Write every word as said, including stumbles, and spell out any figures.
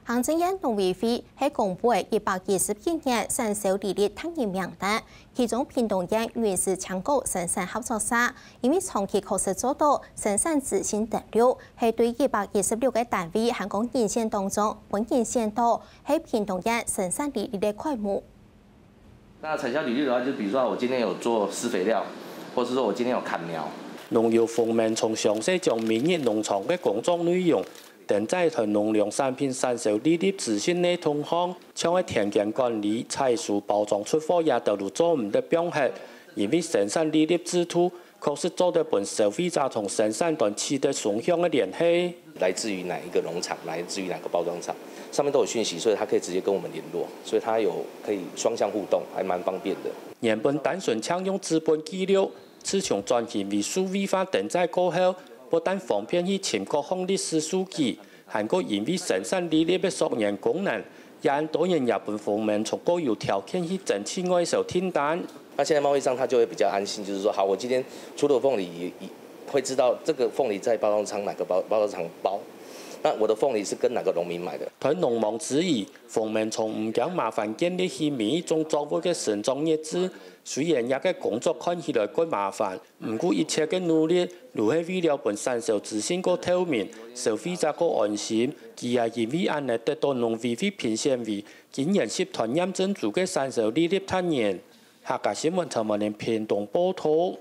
行政院農委會係公布一百一十一年產銷履歷達人名單，其中屏東縣雲林青果生產合作社，因為長期確實做到生產資訊登錄，係對一百一十六個單位還講人選當中，分人選到係屏東縣生產履歷个開幕。 那產銷履歷的話，就比如說我今天有做施肥料，或是說我今天有砍苗。農友馮明從詳細將每日農場个工作內容，登載在農糧產品產銷履歷資訊系統項，像係田間管理、採收、包裝、出貨這兜都做毋得放忒，因為生產履歷制度確實做得分消費者同生產端取得雙向个聯繫。來自於哪一個農場，來自於哪個包裝廠，上面都有訊息，所以他可以直接跟我們聯絡，所以他有可以雙向互動，還蠻方便的。原本單純淨用紙本記錄，自從轉型為數位化登載過後，不但方便去尋各項歷史數據，還過因為生產履歷个溯源功能，也恁多年也分馮明從過有條件去爭取外銷訂單。那現在貿易商他就會比較安心，就是說，好，我今天出了鳳梨，也也會知道這個鳳梨在包裝廠哪個包包裝廠包，那我的鳳梨是跟哪個農民買的。在農忙之餘，馮明從毋驚麻煩建立起每一種作物个生長日誌。雖然這个工作看起來較麻煩，毋過一切个努力，都係為了分產銷資訊較透明，消費者較安心。佢也因為恁呢得到農委會評選為今年十團驗證組个產銷履歷達人。客家新聞陳文玲屏東報導。